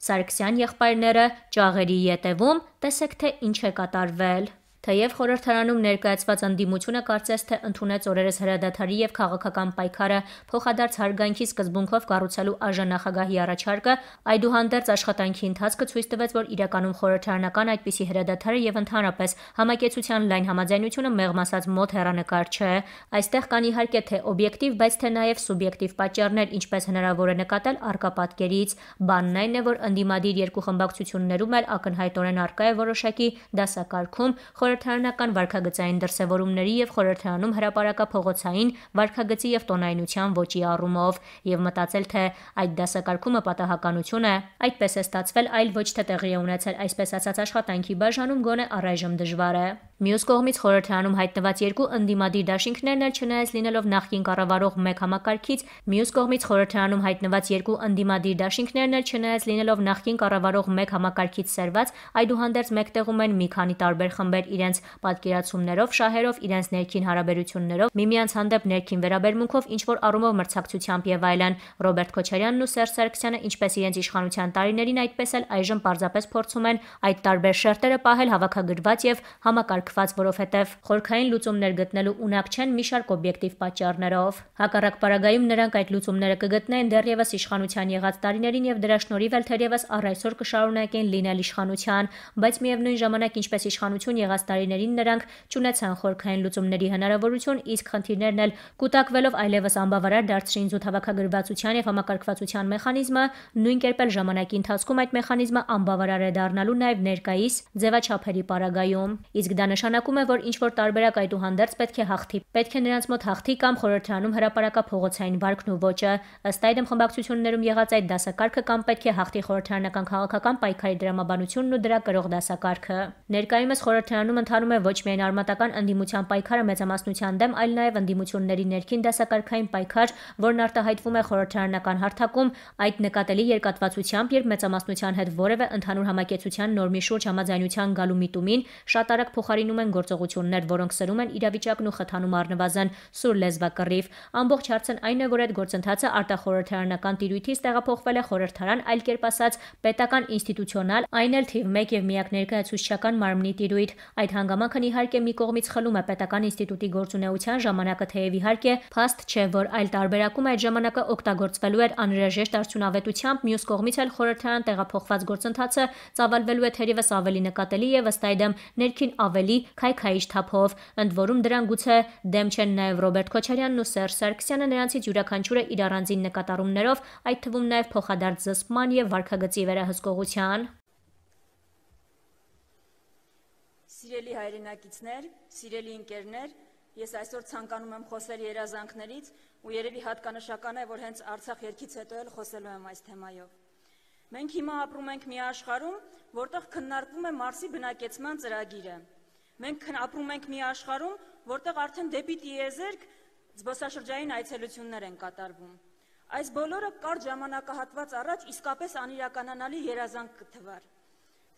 Սարգսյան եղբայրները ճաղերի ետևում, տեսեք թե ինչ է կատարվել։ Թեև խորհրդարանում ներկայացված ընդդիմությունը կարծես թե ընդունեց օրերս հրադադարի եւ քաղաքական պայքարը փոխադարձ հարգանքի սկզբունքով կառուցելու ԱԺ-նախագահի առաջարկը, այդուհանդերձ աշխատանքի ընթացքը ցույց տվեց, որ իրականում խորհրդարանական այդպիսի հրադադարը եւ ընդհանրապես համակեցության լայն համաձայնությունը մեղմ ասած մոտ հեռանկար չէ։ Այստեղ կան իհարկե թե օբյեկտիվ, բայց թե նաեւ սուբյեկտիվ պատճառներ, ինչպես հնարավոր է նկատել առկա պատկերից։ Բանն այն է, որ ընդդիմադիր երկու խմբակցություններում էլ ակնհայտորեն առկա է որոշակի դասակարգում խորհրդարանական վարքագծային դրսևորումների եւ խորհրդարանում հրապարակափողոցային վարքագծի եւ տոնայնության ոճի առումով եւ մտածել թե այդ դասակարգումը պատահականություն է, այդպես է ստացվել, այլ ոչ թե տեղի է ունեցել, այսպես ասած աշխատանքի բաժանում գոնե առայժմ դժվար է։ Մյուս կողմից խորհրդարանում հայտնված երկու ընդդիմադիր դաշինքներն էլ չնայած լինելով նախկին կառավարող մեկ համակարգից, մյուս կողմից խորհրդարանում հայտնված երկու ընդդիմադիր դաշինքներն էլ չնայած լինելով նախկին կառավարող մեկ համակարգից սերված, այդուհանդերձ մեկտեղում են մի քանի տարբեր խմբեր իրենց պատկերացումներով, շահերով, իրենց ներքին հարաբերություններով, միմյանց հանդեպ ներքին վերաբերմունքով, ինչ-որ առումով մրցակցությամբ եւ այլն։ Ռոբերտ Քոչարյանն ու Սերժ Սարգսյանը ինչպես իրենց իշխանության տարիներին, այդպես էլ այժմ պարզապես փորձում են այդ տարբեր շերտերը պահել հավաքագրված եւ համակարգված, որովհետեւ խորքային լուծումներ գտնելու ունակ չեն մի շարք օբյեկտիվ պատճառներով։ Հակառակ պարագայում նրանք այդ լուծումները կգտնեն դեռևս իշխանության եղած տարիներին եւ դրա շնորհիվ էլ թերևս առ այսօր կշարունակեն լինել իշխանության, բայց միևնույն ժամանակ ինչպես իշխանություն եղած տարիներին նրանք չունեցան խորքային լուծումների հնարավորություն, իսկ խնդիրներն էլ կուտակվելով այլևս անբավարար դարձրին զուտ հավաքագրվածության եւ համակարգվածության մեխանիզմը, նույն կերպ էլ ժամանակի ընթացքում այդ մեխանիզմը անբավարար է դառնալու նաեւ ներկայիս ձևաչափերի պարագայում։ Իսկ դա նշանակում է, որ ինչ-որ տարբերակ այդուհանդերձ պետք է հաղթի, պետք է նրանց մոտ հաղթի կամ խորհրդարանում հրապարակափողոցային վարքն ու ոճը։ Ըստ այդմ խմբակցություններում եղած այդ դասակարգը կամ պետք է հաղթի խորհրդարանական քաղաքական պայքարի դրամաբանությունն ու դրա կրող դասակարգը։ Ներկայումս խորհրդարանում ընթանում է ոչ միայն արմատական ընդդիմության պայքարը մեծամասնության դեմ, այլ նաև ընդդիմությունների ներքին դասակարգային պայքար, որն արտահայտվում է խորհրդարանական հարթակում այդ նկատելի երկատվածությամբ, երբ մեծամասնության հետ որևէ ընդհանուր համակեցության նորմի շուրջ համաձայնության գալու միտումին շատ արագ փոխարինում են գործողություններ, որոնք սրում են իրավիճակն ու խթանում առնվազն սուր լեզվակռիվ։ Ամբողջ հարցն այն է, որ այդ գործընթացը արտախորհրդարանական տիրույթից տեղափոխվել է խորհրդարան, այլ կերպ ասած պետական ինստիտուցիոնալ, այն էլ թիվ 1 եւ միակ ներկայացուցչական մարմնի տիրույթ։ Այդ հանգամանքն իհարկե մի կողմից խլում է պետական ինստիտուտի գործունեության ժամանակը, թեև իհարկե փաստ չէ, որ այլ տարբերակում այդ ժամանակը օգտագործվելու էր անհրաժեշտ արդյունավետությամբ, մյուս կողմից էլ խորհրդարան տեղափոխված գործընթացը ծավալվելու է թերևս ավելի նկատելի եւ ըստ այդմ ներքին ավելի քայքայիչ թափով։ Ընդ որում դրան գուցե դեմ չեն նաեւ Ռոբերտ Քոչարյանն ու Սերժ Սարգսյանը, նրանցից յուրաքանչյուրը իր առանձին նկատառումներով, այդ թվում նաեւ փոխադարձ զսպման եւ վարքագծի վերահսկողության։ Սիրելի հայրենակիցներ, սիրելի ընկերներ, ես այսօր ցանկանում եմ խոսել երազանքներից ու երևի հատկանշական է, որ հենց Արցախ ելքից հետո էլ խոսելու եմ այս թեմայով։ Մենք հիմա ապրում ենք մի աշխարհում, որտեղ քննարկվում է Մարսի բնակեցման ծրագիրը։ Մենք ապրում ենք մի աշխարհում, որտեղ արդեն դեպի տիեզերք զբոսաշրջային այցելություններ են կատարվում։ Այս բոլորը կարճ ժամանակահատված առաջ իսկապես անիրականանալի երազանք կթվար։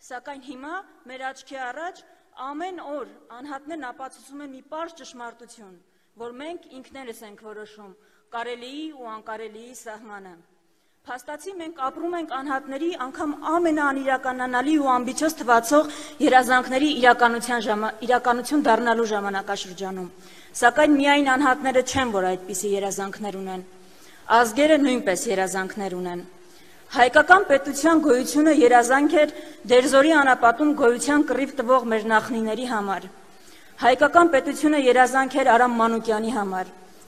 Սակայն հիմա մեր աչքի առաջ ամեն օր անհատներն ապացուցում են մի պարզ ճշմարտություն, որ մենք ինքներս ենք որոշում կարելիի ու անկարելիի սահմանը։ Փաստացի մենք ապրում ենք անհատների անգամ ամենաանիրականանալի ու ամբիցիոզ թվացող երազանքների իրականություն դառնալու ժամանակաշրջանում։ Սակայն միայն անհատները չեն, որ այդպիսի երազանքներ ունեն։ Ազգերը նույնպես երազանքներ ունեն։ Հայկական պետության գոյությունը երազանք էր դերձորի անապատում գոյության կռիվ տվող մեր նախնիների համար։ Հայկական պետությունը երազանք էր Արամ Մանուկյանի համար,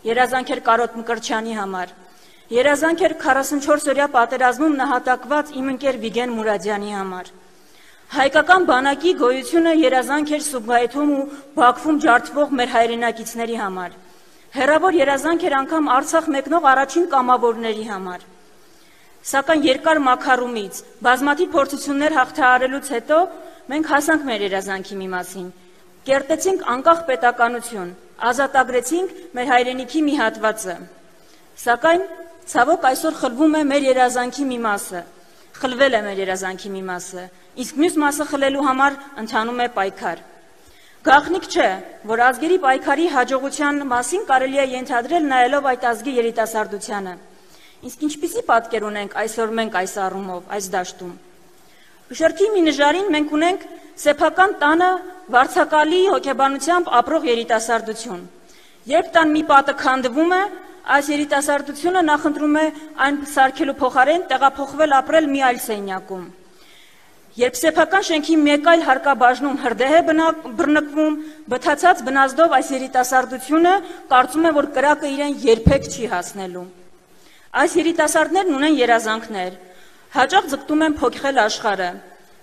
երազանք էր Կարոտ Մկրտչյանի համար, երազանք էր 44-օրյա պատերազմում նահատակված իմ ընկեր Վիգեն Մուրադյանի համար։ Հայկական բանակի գոյությունը երազանք էր Սուբգայիթում ու Բաքվում ջարդվող մեր հայրենակիցների համար։ Հեռավոր երազանք էր անգամ Արցախ մեկնող առաջին կամավորների համար։ Սակայն երկար մաքարումից, բազմաթիվ փորձություններ հաղթահարելուց հետո մենք հասանք մեր երազանքի մի մասին։ Կերտեցինք անկախ պետականություն, ազատագրեցինք մեր հայրենիքի մի հատվածը։ Սակայն ցավոք այսօր խլվում է մեր երազանքի մի մասը, խլվել է մեր երազանքի մի մասը, իսկ մյուս մասը խլելու համար ընթանում է պայքար։ Գաղտնիք չէ, որ ազգերի պայքարի հաջողության մասին կարելի է ենթադրել նայելով այդ ազգի երիտասարդությանը։ Իսկ ինչպիսի պատկեր ունենք այսօր մենք այս առումով, այս դաշտում։ Բշրթի մի նժարին մենք ունենք սեփական տանը վարձակալի հոգեբանությամբ ապրող երիտասարդություն։ Երբ տան մի պատը քանդվում է, այս երիտասարդությունը նախընտրում է այն սարքելու փոխարեն տեղափոխվել ապրել մի այլ սենյակում։ Երբ սեփական շենքի մեկ այլ հարկաբաժնում հրդեհ է բռնկվում, բթացած բնազդով այս երիտասարդությունը կարծում է, որ կրակը իրեն երբեք չի հասնելու։ Այս երիտասարդներն ունեն երազանքներ, հաճախ ձգտում են փոխել աշխարհը,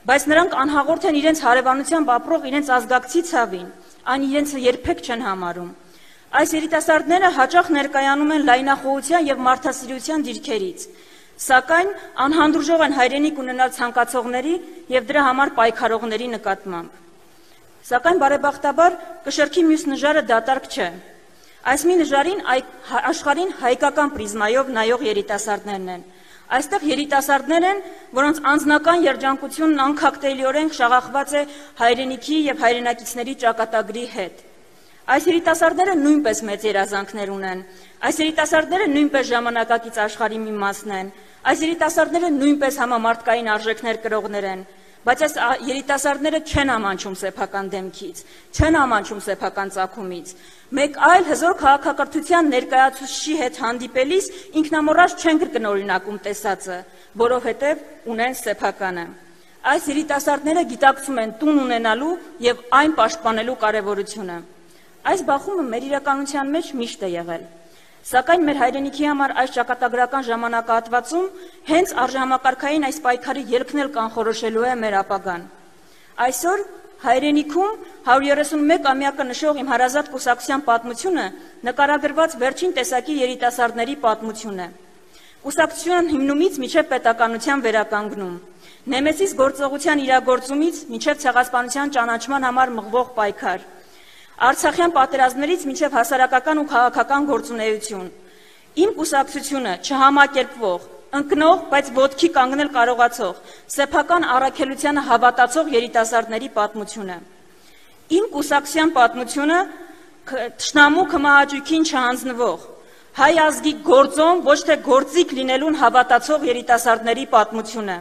բայց նրանք անհաղորդ են իրենց հարևանությամբ ապրող իրենց ազգակցի ցավին, այն իրենց երբեք չեն համարում։ Այս երիտասարդները հաճախ ներկայանում են լայնախոհության եւ մարդասիրության դիրքերից, սակայն անհանդուրժող են հայրենիք ունենալ ցանկացողների եւ դրա համար պայքարողների նկատմամբ։ Սակայն բարեբախտաբար կշռքի մյուս նժարը դատարկ չէ։ Այս մի նժարին աշխարհին հայկական պրիզմայով նայող երիտասարդներն են։ Այստեղ երիտասարդներ են, որոնց անձնական երջանկությունն անքակտելիորեն շաղախված է հայրենիքի եւ հայրենակիցների ճակատագրի հետ։ Այս երիտասարդները նույնպես մեծ երազանքներ ունեն։ Այս երիտասարդները նույնպես ժամանակակից աշխարհի մի մասն են։ Այս երիտասարդները նույնպես համամարտկային արժեքներ կրողներ են, բայց այս երիտասարդները չեն ամանչում սեփական դեմքից, չեն ամանչում սեփական ծագումից։ Մեկ այլ հզոր քաղաքակրթության ներկայացուցիչի հետ հանդիպելիս ինքնամոռաջ չեն կրկնօրինակում տեսածը, որովհետև ունեն սեփականը։ Այս երիտասարդները գիտակցում են տուն ունենալու եւ այն պաշտպանելու կարեւորությունը։ Այս բախումը մեր իրականության մեջ միշտ է եղել։ Սակայն մեր հայրենիքի համար այս ճակատագրական ժամանակահատվածում հենց արժեհամակարգային այս պայքարի ելքն էլ կանխորոշելու է մեր ապագան։ Այսօր հայրենիքում 131-ամյակը նշող իմ հարազատ կուսակցության պատմությունը նկարագրված վերջին տեսակի երիտասարդների պատմություն է։ Կուսակցության հիմնումից մինչև պետականության վերականգնում, Նեմեսիս գործողության իրագործումից մինչև ցեղասպանության ճանաչման համար մղվող պայքար, Արցախյան պատերազմներից մինչև հասարակական ու քաղաքական գործունեություն։ Իմ կուսակցությունը չհամակերպվող, ընկնող, բայց ոտքի կանգնել կարողացող, սեփական առաքելությանը հավատացող երիտասարդների պատմությունը։ Իմ կուսակցության պատմությունը թշնամու քմահաճույքին չհանձնվող, հայ ազգի գործոն, ոչ թե գործիք լինելուն հավատացող երիտասարդների պատմությունը։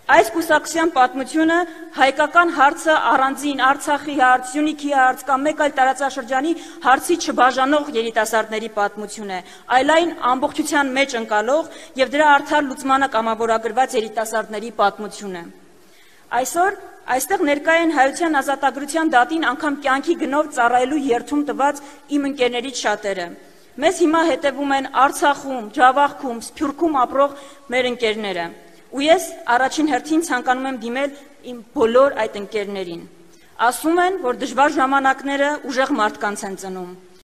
Այս կուսակցության պատմությունը հայկական հարցը առանձին Արցախի հարց, Սյունիքի հարց կամ մեկ այլ տարածաշրջանի հարցի չբաժանող երիտասարդների պատմություն է, այլ այն ամբողջության մեջ ընկալող եւ դրա արդար լուծմանը կամավորագրված երիտասարդների պատմություն է։ Այսօր այստեղ ներկա են Հայության ազատագրության դատին անգամ կյանքի գնով ծառայելու երթում տված իմ ընկերներից շատերը։ Մեզ հիմա հետևում են Արցախում, Ջավախքում, Սփյուռքում ապրող մեր ընկերները։ Ու ես առաջին հերթին ցանկանում եմ դիմել իմ բոլոր այդ ընկերներին։ Ասում են, որ դժվար ժամանակները ուժեղ մարդկանց են ծնում։